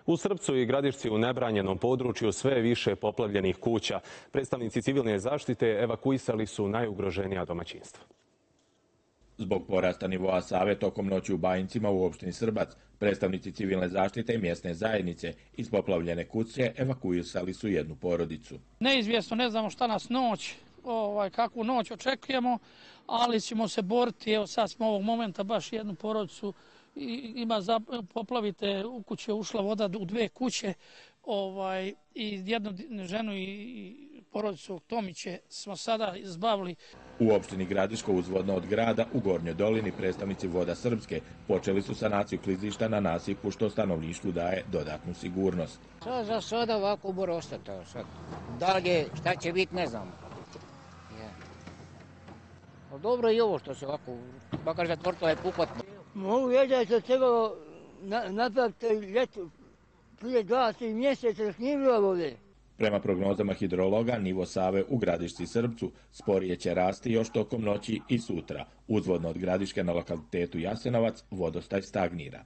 U Srpcu i Gradišci u nebranjenom području sve je više poplavljenih kuća. Predstavnici civilne zaštite evakuisali su najugroženija domaćinstva. Zbog porasta nivoa Save tokom noći u Bajincima u opštini Srbac, predstavnici civilne zaštite i mjesne zajednice iz poplavljene kuće evakuisali su jednu porodicu. Neizvjesno, ne znamo šta nas noć, kakvu noć očekujemo, ali ćemo se boriti. Evo sad smo ovog momenta baš jednu porodicu poplavite, u kuće ušla voda u dve kuće i jednu ženu i porodicu Tomiće smo sada izbavili. U opštini Gradiško uzvodno od grada u Gornjoj dolini predstavnici Voda Srpske počeli su sanaciju klizišta na nasipu što stanovništvu daje dodatnu sigurnost. Za sada ovako mora ostati. Dalje šta će biti ne znamo. Ali dobro je i ovo što se ovako, makar zatvorto je pukotno. Mogu reći da se trebalo napraviti ljeto prije 2-3 mjeseca još nije bilo vode. Prema prognozama hidrologa, nivo Save u Gradišci i Srpcu sporije će rasti još tokom noći i sutra. Uzvodno od Gradiške na lokalitetu Jasenovac vodostaj stagnira.